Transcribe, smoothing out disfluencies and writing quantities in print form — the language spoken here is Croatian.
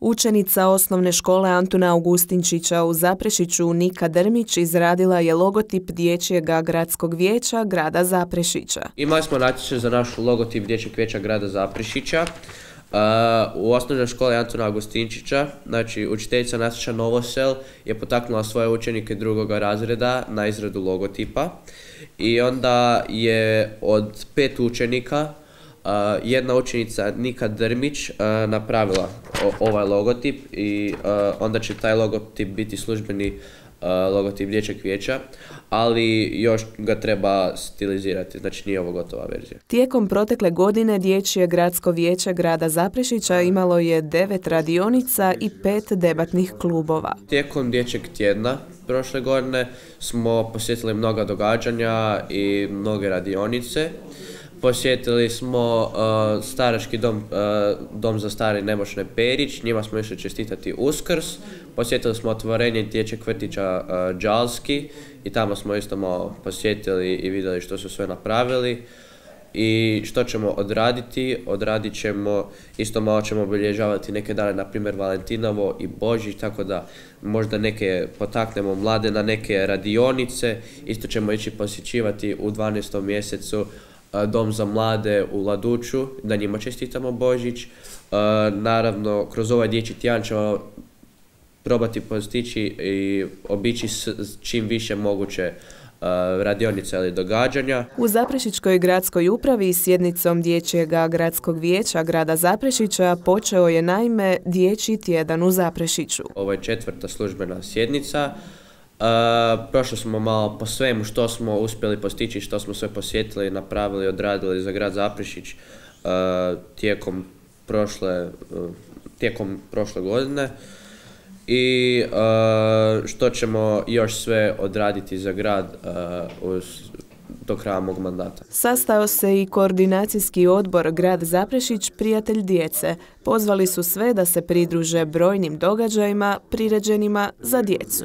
Učenica osnovne škole Antuna Augustinčića u Zaprešiću Nika Drmić izradila je logotip Dječjeg gradskog vijeća grada Zaprešića. Imali smo natječaj za naš logotip Dječjeg vijeća grada Zaprešića. U osnovnoj školi Antuna Augustinčića, znači učiteljica Nataša Novosel je potaknula svoje učenike drugog razreda na izradu logotipa i onda je od 5 učenika jedna učenica Nika Drmić napravila ovaj logotip i onda će taj logotip biti službeni logotip Dječjeg vijeća, ali još ga treba stilizirati, znači nije ovo gotova verzija. Tijekom protekle godine Dječje gradsko vijeće grada Zaprešića imalo je 9 radionica i 5 debatnih klubova. Tijekom Dječjeg tjedna prošle godine smo posjetili mnoga događanja i mnoge radionice. Posjetili smo starački dom za stare i nemoćne Perić, njima smo išli čestitati Uskrs. Posjetili smo otvorenje dječjeg vrtića Đalski i tamo smo isto malo posjetili i vidjeli što su sve napravili. I što ćemo odraditi? Odradit ćemo, isto malo ćemo obilježavati neke dane, na primjer Valentinovo i Božić, tako da možda neke potaknemo mlade na neke radionice. Isto ćemo ići posjećivati u 12. mjesecu Dom za mlade u Laduću, da njima čestitamo Božić. Naravno, kroz ovaj dječji tjedan ćemo probati postići i obići čim više moguće radionica ili događanja. U Zaprešićkoj gradskoj upravi sjednicom Dječjeg gradskog vijeća grada Zaprešića počeo je naime Dječji tjedan u Zaprešiću. Ovo je 4. službena sjednica. Prošli smo malo po svemu što smo uspjeli postići, što smo sve posjetili, napravili, odradili za grad Zaprešić tijekom prošle godine i što ćemo još sve odraditi za grad do kraja mog mandata. Sastao se i koordinacijski odbor grad Zaprešić Prijatelj djece. Pozvali su sve da se pridruže brojnim događajima priređenima za djecu.